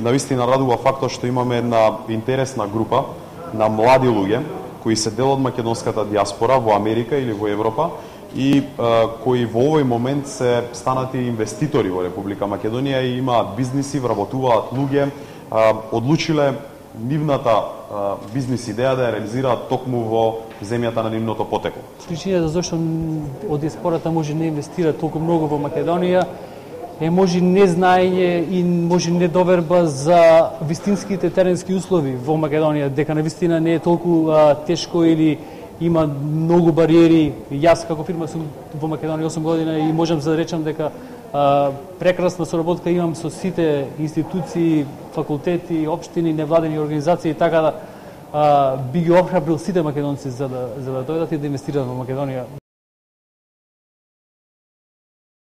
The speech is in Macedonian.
навистина радува фактот што имаме една интересна група на млади луѓе кои се дел од македонската диаспора во Америка или во Европа и кои во овој момент се станати инвеститори во Република Македонија и имаат бизниси, вработуваат луѓе, одлучиле нивната бизнис идеја да ја реализираат токму во земјата на нивното потекло. Причината зашто од диаспората може не инвестира толку многу во Македонија е може незнаење и може недоверба за вистинските теренски услови во Македонија, дека навистина не е толку тешко или има многу бариери. Јас како фирма сум во Македонија 8 година и можам да речам дека прекрасна соработка имам со сите институции, факултети, општини, невладени организации, така да би ги охрабрил сите македонци за да дојдат и да инвестираат во Македонија.